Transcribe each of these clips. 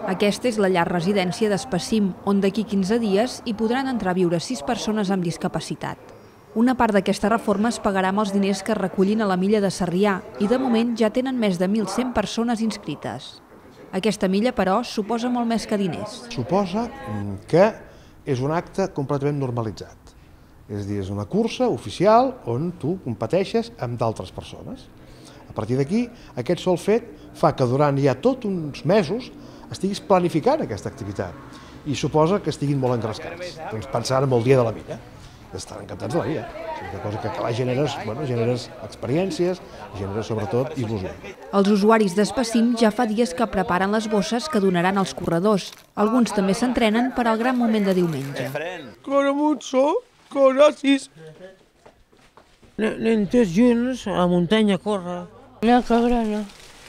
Aquesta és la llar residència d'Espassim, on d'aquí 15 dies hi podran entrar a viure 6 persones amb discapacitat. Una part d'aquesta reforma es pagarà amb els diners que es recullin a la milla de Sarrià i de moment ja tenen més de 1.100 persones inscrites. Aquesta milla, però, suposa molt més que diners. Suposa que és un acte completament normalitzat. És a dir, és una cursa oficial on tu competeixes amb d'altres persones. A partir d'aquí, aquest sol fet fa que durant ja tots uns mesos estiguis planificant aquesta activitat i suposa que estiguin molt engrescats. Doncs pensant en el dia de la milla. Estan encantats de la vida. És una cosa que clar, generes experiències, generes sobretot il·lusió. Els usuaris d'Espassim ja fa dies que preparen les bosses que donaran als corredors. Alguns també s'entrenen per al gran moment de diumenge. Corre mucho, corre así. Anem tots junts a la muntanya a córrer. No, córrer no.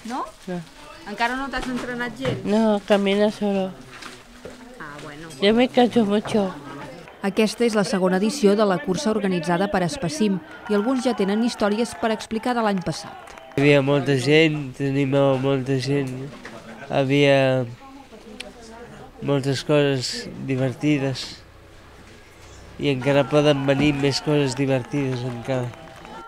No? No. Encara no t'has entrenat gens? No, camina solo. Ah, bueno. Yo me canso mucho. Aquesta és la segona edició de la cursa organitzada per Espassim i alguns ja tenen històries per explicar de l'any passat. Hi havia molta gent, teníem molta gent, havia moltes coses divertides i encara poden venir més coses divertides encara.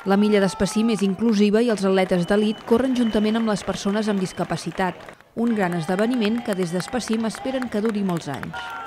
La milla d'Espassim és inclusiva i els atletes d'elit corren juntament amb les persones amb discapacitat, un gran esdeveniment que des d'Espassim esperen que duri molts anys.